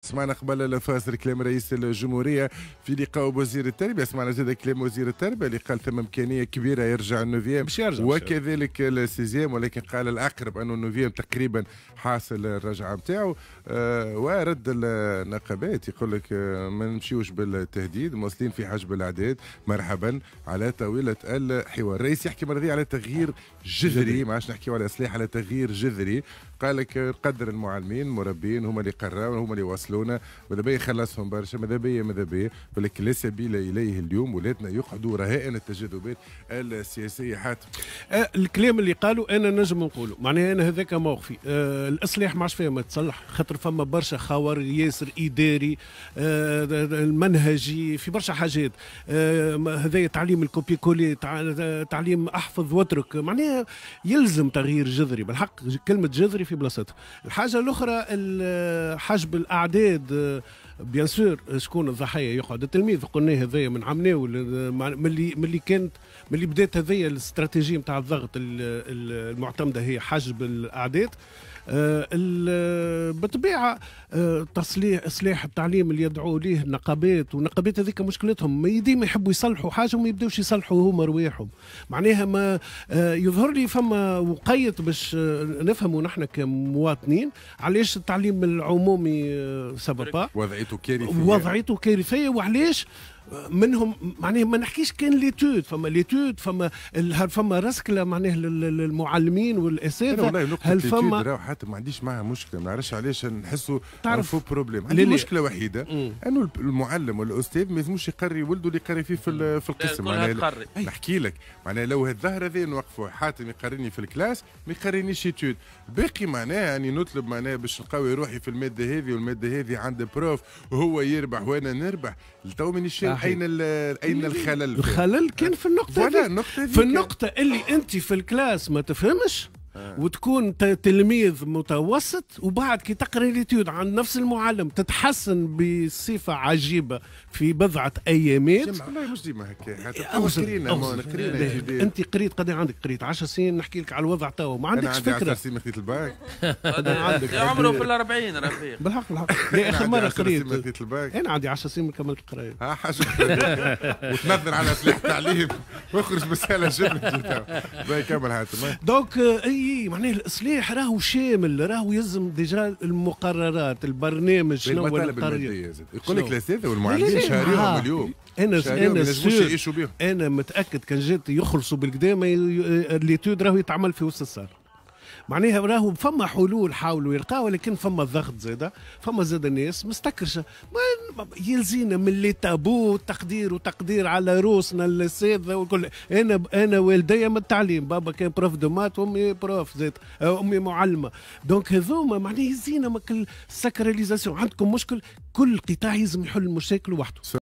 سمعنا قبل الفاصل كلام رئيس الجمهورية في لقاء بوزير التربيه، سمعنا زاد كلام وزير التربية اللي قال ثم امكانية كبيرة يرجع ال neuvième باش يرجع وكذلك ال sixième، ولكن قال الاقرب انه ال neuvième تقريبا حاصل الرجعة نتاعو. ورد النقابات يقول لك ما نمشيوش بالتهديد، مواصلين في حجب الاعداد، مرحبا على طاولة الحوار. الرئيس يحكي مرة على تغيير جذري، ما عادش نحكيو على اصلاح، على تغيير جذري. قال لك قدر المعلمين المربين هما اللي قراوا هما اللي وصلونا، ماذا بيا يخلصهم برشا، ماذا بيا ماذا بيا، ولكن لا سبيل اليه اليوم، ولادنا يقعدوا رهائن التجاذبات السياسية. حاتم الكلام اللي قالوا انا نجم نقوله، معناها انا هذاك موقفي. الاصلاح ما عادش فيها ما تصلح، خاطر فما برشا خور ياسر اداري المنهجي في برشا حاجات. هذا تعليم ال copier-coller، تعليم احفظ واترك، معناها يلزم تغيير جذري بالحق، كلمة جذري في بلاصتها. الحاجة الاخرى حجب الاعداد، bien sûr شكون الضحية؟ يقعد التلميذ. قلنا هذايا من عمناول، من اللي كانت، من اللي بدات هذيا الاستراتيجية نتاع الضغط المعتمدة هي حجب الاعداد. بالطبيعة تصليح اصلاح التعليم اللي يدعو ليه النقابات، والنقابات هذيك مشكلتهم ما ديما يحبوا يصلحوا حاجة وما يبداوش يصلحوا هما رواحهم. معناها ما يظهر لي فما وقيت باش نفهموا نحن كمواطنين علاش التعليم العمومي ça va pas، وضعيته كارثيه، وضعيته كارثيه، وعلاش منهم معناها ما نحكيش كان l'étude، فما l'étude، فما رسكله معناها للمعلمين والاساتذه. هل فما حتى ما عنديش معها مشكله، ما نعرفش علاش نحسوا تعرف faux problème. عندي مشكلة وحيده، انه المعلم والاستاذ ما يلزموش يقري ولده اللي يقري فيه في القسم. معناها نحكي لك معناها لو الظاهرة هذه نوقفوا، حاتم يقريني في ال classe ما يقرينيش étude باقي، معناها يعني نطلب معناها باش نقوي روحي في المادة هذه والمادة هذه عند prof وهو يربح وانا نربح. تو مانيش اين الخلل؟ الخلل كان في النقطة النقطة في النقطة اللي انت في ال classe ما تفهمش وتكون تلميذ متوسط، وبعد كي تقرا l'étude عند نفس المعلم تتحسن بصفة عجيبة في بضعة ايامات. والله مش ديما هكا، قرينا. انت قريت قد عندك؟ قريت 10 سنين، نحكي لك على الوضع تو، ما عندكش فكره. 10 سنين خذيت الباك. عندك عمره في ال40 رفيق. بالحق بالحق، لا اخر مرة قريت انا عندي 10 سنين كملت القرايه. ها حاجة وتنظر على سلاح التعليم واخرج بسهاله جبنه. كمل حاتم. donc اي معناه الاصلاح راهو شامل، راهو يلزم déjà المقررات، البرنامج. شنو هو المادية؟ يقول لك الاساتذة والمعلمين شهريهم اليوم. انا sûr، انا متاكد كان جات يخلصوا بالقدا l'étude راهو يتعمل في وسط ال salle. معناها راهو فما حلول حاولوا يلقاو، ولكن فما ضغط زاده، فما زاد الناس مستكرشه. ما يلزينا من les tabous، تقدير وتقدير على روسنا الاساتذة والكل. انا والدي من التعليم، بابا كان prof de maths وامي prof زاد، امي معلمه. donc هذوما معناها يزينا من ال sacralisation. عندكم مشكل، كل قطاع يلزم يحل المشاكل وحده.